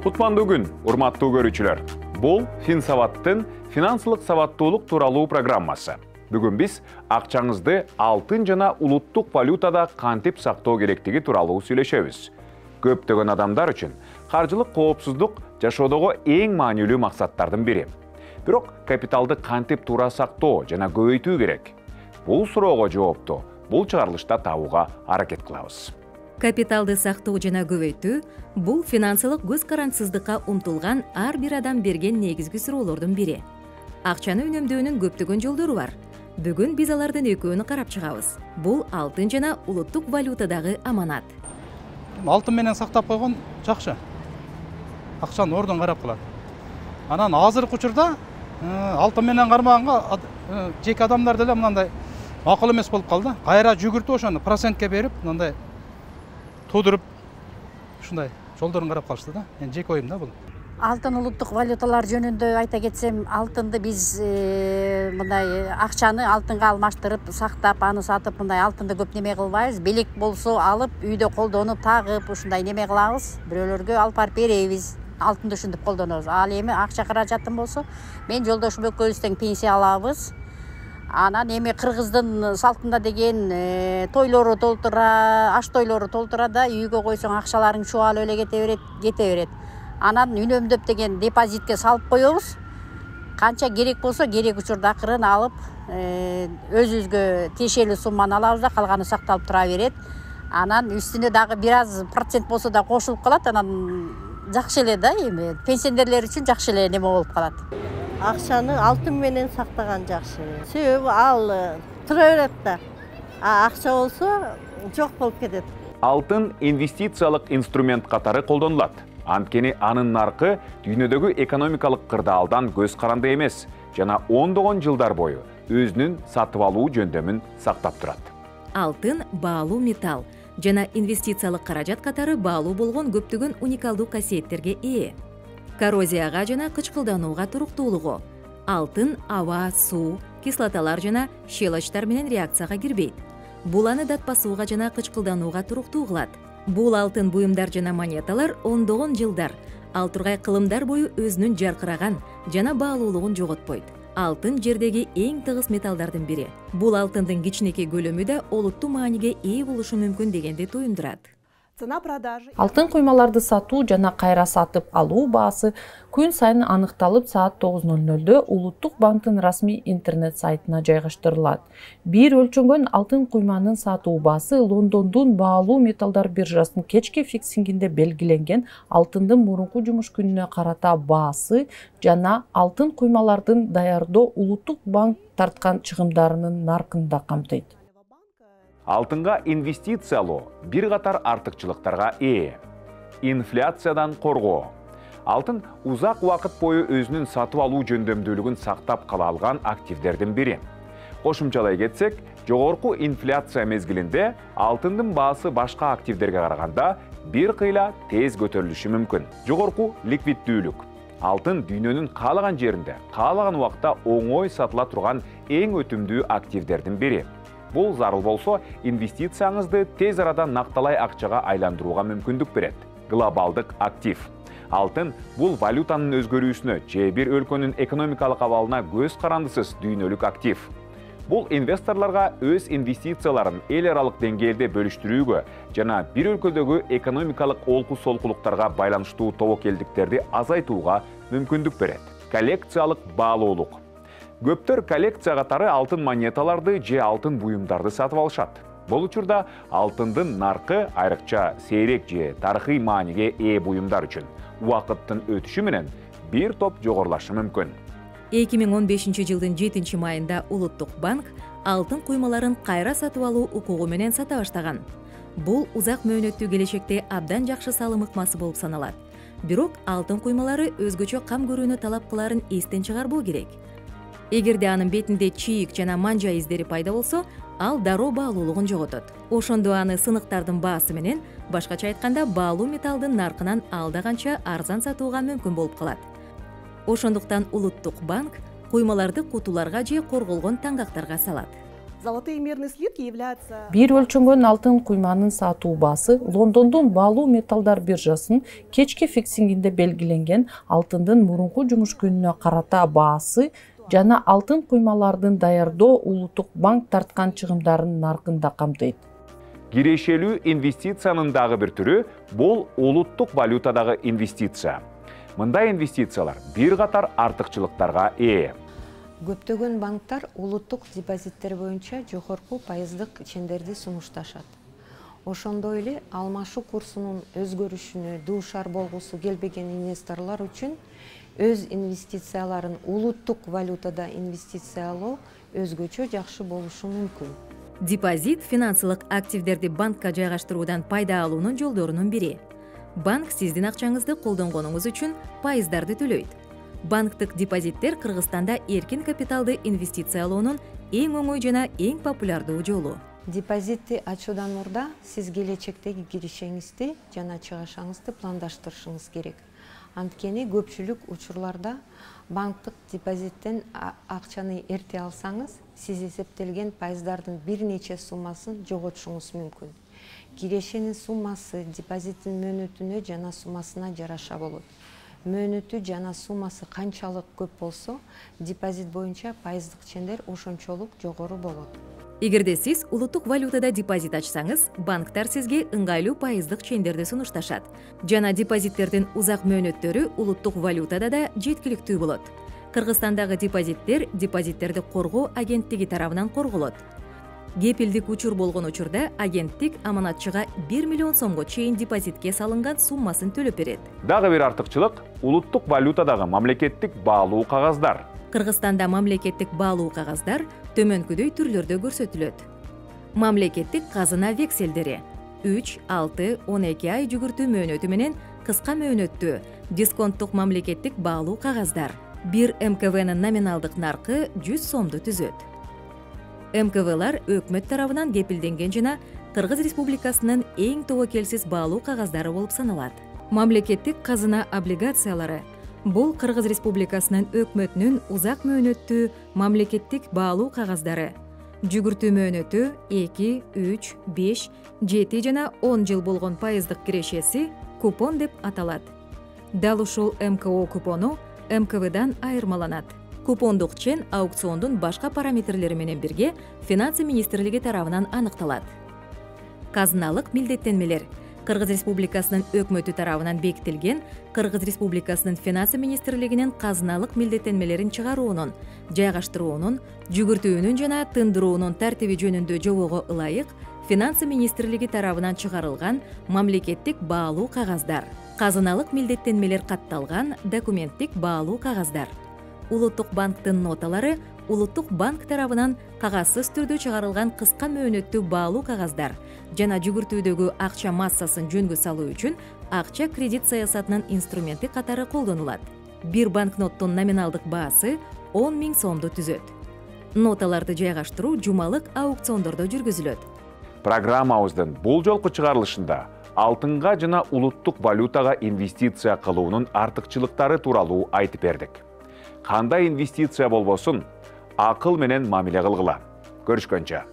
Кутмандуу күн, урматтуу көрүүчүлөр. Бул Финсаваттын финансылык сабаттуулук тууралуу программасы. Бүгүн биз акчаңызды алтын жана улуттук валютада кантип сактоо керектиги тууралуу сүйлөшөбүз. Көптөгөн адамдар үчүн каржылык коопсуздук жашоодогу эң маанилүү максаттардын бири. Бирок капиталды кантип туура сактоо жана көбөйтүү керек? Бул суроого жоопту бул чыгарылышта табууга аракет кылабыз. Капиталды сактоо жана көбөйтүү бул финансылык көз карандысыздыкка умтулган ар бир адам берген негизги суроолордун бири. Акчаны үнөмдөөнүн көптөгөн жолдору бар. Бүгүн биз алардын экөөнү карап чыгабыз. Бул алтын жана улуттук валютадагы аманат. Алтын менен сактап койгон жакшы. Акчаны ордун карап калат. Анан азыркы учурда алтын менен кармаганга жеке адамдар деле мындай макул эмес болуп калды. Кайра жүгүртүп ошону процентке берип, мындай тудуруп ушундай жолдорун карап калышты да. Эми жеке оюм да бул. Алтын улуттук валюталар жөнүндө айта кетсем, алтынды биз мындай акчаны алтынга алмаштырып, сактап, аны сатып, мындай алтынды көп неме кылбайбыз. Белек болсо алып, үйдө колдонуп, тагып, ушундай неме кылабыз. Бирөөлөргө алып барып беребиз. Алтынды ушинтип колдонобуз. Ал эми акча каражатым болсо, мен жолдошум экөөбүз тең пенсия алабыз. Анан эми кыргыздын салтында деген тойлору толтура, аш тойлору толтура да үйгө койсоң акчаларың чубалып эле кете берет. Анан үнөмдөп деген депозитке салып коебуз. Канча керек болсо керек учурда акырын алып, өзүбүзгө тиешелүү сумманы алабыз да, калганы сакталып тура берет. Анан үстүнө дагы бир аз процент болсо да кошулуп калат. Анан жакшы эле да, эми пенсионерлер үчүн жакшы эле неме болуп калат. Акчаны алтын менен сактаган жакшы. Себеби ал тура берет да. Акча болсо жок болуп кетет. Алтын инвестициялык инструмент катары колдонулат. Анткени анын наркы дүйнөдөгү экономикалык кырдаалдан көз каранды эмес жана ондогон жылдар бою өзүнүн сатып алуу жөндөмүн сактап турат. Алтын баалуу металл жана инвестициялык каражат катары баалуу болгон көптөгөн уникалдуу касиеттерге ээ. Коррозияга жана кычкылданууга туруктуулугу. Алтын аба, суу, кислоталар жана щелочтар менен реакцияга кирбейт. Бул аны датпасууга жана кычкылданууга туруктуу кылат. Бул алтын буюмдар жана монеталар ондогон жылдар, ал тургай кылымдар бою өзүнүн жаркыраган жана баалуулугун жоготпойт. Алтын жердеги эң тыгыз металлдардын бири. Бул алтындын кичинекей көлөмү да олуттуу мааниге ээ болушу мүмкүн дегенди туюндурат. Алтын куймаларды сатуу жана кайра сатып алуу баасы күн сайын аныкталып саат 9:00 Улуттук банктын расмий интернет сайтына жайгаштырылат. Бир өлчөнгөн алтын куйманын сатуу баасы Лондондун баалуу металлдар биржасынын кечки фиксингинде белгиленген алтындын мурунку жумуш күнүнө карата баасы жана алтын куймалардын даярдоо Улуттук банк тарткан чыгымдарынын наркын да камтыйт. Алтынга инвестициялоо бир катар артыкчылыктарга ээ. Инфляциядан коргоо. Алтын узак убакыт бою өзүнүн сатып алуу жөндөмдүүлүгүн сактап кала алган активдердин бири. Кошумчалай кетсек, жогорку инфляция мезгилинде алтындын баасы башка активдерге караганда бир кыйла тез көтөрүлүшү мүмкүн. Жогорку ликвиддүүлүк. Алтын дүйнөнүн каалаган жеринде, каалаган убакта оңой сатыла турган эң өтүмдүү активдердин бири. Бул зарыл болсо, инвестицияңызды тез арада накталай акчага айландырууга мүмкүндүк берет. Глобалдык актив. Алтын бул валютанын өзгөрүүсүнө же бир өлкөнүн экономикалык абалына көз карандысыз дүйнөлүк актив. Бул инвесторлорго өз инвестицияларын эл аралык деңгээлде бөлүштүрүүгө жана бир өлкөдөгү экономикалык олку-солкулуктарга байланыштуу тобокелдиктерди азайтууга мүмкүндүк берет. Коллекциялык баалуулук. Көптөр коллекция катары алтын монеталарды же алтын буюмдарды сатып алышат. Бул учурда алтындын наркы айрыкча сейрек же тарыхый мааниге ээ буюмдар үчүн убакыттын өтүшү менен бир топ жогорулашы мүмкүн. 2015 жылдын 7 майында Улуттук банк алтын куймаларын кайра сатып алуу укугу менен сата баштаган. Бул узак мөөнөттүү келечекте абдан жакшы салым ыкмасы болуп саналат. Бирок алтын куймалары өзгөчө кам көрүүнү талап кыларын эстен чыгарбоо керек. Эгерде анын бетинде чийик жана манжа издери пайда болсо, ал дароо баалуулугун жоготот. Ошондо аны сыныктардын баасы менен, башкача айтканда, баалуу металлдын наркынан алда канча арзан сатууга мүмкүн болуп калат. Ошондуктан Улуттук банк куймаларды кутуларга же корголгон таңгактарга салат. Золотые мерные слитки являются... Бир өлчөнгөн алтын куйманын сатуу баасы Лондондун баалуу металлдар биржасынын кечки фиксингинде белгиленген алтындын мурунку жумуш күнүнө карата баасы жана алтын куймалардын даярдоо Улуттук банк тарткан чыгымдарынын наркында камтыйт. Кирешелүү инвестициянын дагы бир түрү бул улуттук валютадагы инвестиция. Мындай инвестициялар бир катар артыкчылыктарга ээ. Көптөгөн банктар улуттук депозиттер боюнча жогорку пайыздык чендерди сунушташат. Ошондой эле алмашуу курсунун өзгөрүшүнө дуушар болгусу келбеген инвесторлор үчүн өз инвестицияларын улуттук валютада инвестициялоо өзгөчө жакшы болушу мүмкүн. Депозит финансылык активдерди банкка жайгаштыруудан пайда алуунун жолдорунун бири. Банк сиздин акчаңызды колдонгонуңуз үчүн пайыздарды төлөйт. Банктык депозиттер Кыргызстанда эркин капиталды инвестициялоонун эң оңой жана эң популярдуу жолу. Депозитти ачуудан мурда сиз келечектеги киришеңизди жана чыгышыңызды пландаштырышыңыз керек. Анткени көпчүлүк учурларда банктык депозиттен акчаны эрте алсаңыз, сиз эсептелген пайыздардын бир нече суммасын жоготушуңуз мүмкүн. Кирешенин суммасы депозиттин мөөнөтүнө жана суммасына жараша болот. Мөөнөтү жана суммасы канчалык көп болсо, депозит боюнча пайыздык чендер ошончолук жогору болот. Эгерде сиз улуттук валютада депозит ачсаңыз, банктар сизге ыңгайлуу пайыздык чендерди сунушташат. Жана депозиттердин узак мөөнөттөрү улуттук валютада да жеткиликтүү болот. Кыргызстандагы депозиттер депозиттерди коргоо агенттиги тарабынан корголот. Кепилдик учур болгон учурда агенттик аманатчыга 1 миллион сомго чейин депозитке салынган суммасын төлөп берет. Дагы бир артыкчылык улуттук валютадагы мамлекеттик баалуу кагаздар. Кыргызстанда мамлекеттик баалуу кагаздар төмөнкүдөй түрлөрдө көрсөтүлөт. Мамлекеттик казына векселдери 3, 6, 12 ай жүгүртүү мөөнөтү менен кыска мөөнөттүү дисконттук мамлекеттик баалуу кагаздар. Бир МКВнын номиналдык наркы 100 сомду түзөт. МКВлар өкмөт тарабынан кепилденген жана Кыргыз Республикасынын эң тобокелсиз баалуу кагаздары болуп саналат. Мамлекеттик казына облигациялары бул Кыргыз Республикасынын өкмөтүнүн узак мөөнөттүү мамлекеттик баалуу кагаздары. Жүгүртүү мөөнөтү 2, 3, 5, 7 жана 10 жыл болгон пайыздык кирешеси купон деп аталат. Дал ушул МКО купону МКВдан айырмаланат. Купондук чен аукциондун башка параметрлери менен бирге Финансы министрлиги тарабынан аныкталат. Казыналык милдеттенмелер Кыргыз Республикасынын өкмөтү тарабынан бекитилген Кыргыз Республикасынын Финансы министрлигинин казыналык милдеттенмелерин чыгаруунун, жайгаштыруунун, жүгүртүүнүн жана тындыруунун тартиби жөнүндө жобого ылайык Финансы министрлиги тарабынан чыгарылган мамлекеттик баалуу кагаздар. Казыналык милдеттенмелер катталган документтик баалуу кагаздар. Улуттук банктын ноталары Улуттук банк тарабынан кагазсыз түрдө чыгарылган кыска мөөнөттүү баалуу кагаздар жана жүгүртүүдөгү акча массасын жөнгө салуу үчүн акча кредит саясатынын инструменти катары колдонулат. Бир банкноттун номиналдык баасы 10 000 сомду түзөт. Ноталарды жайгаштыруу жумалык аукциондордо жүргүзүлөт. Программабыздын бул жолку чыгарылышында алтынга жана улуттук валютага инвестиция кылуунун артыкчылыктары тууралуу айтып бердик. Кандай инвестиция болбосун, акыл менен мамиле кылгыла. Көрүшкөнчө.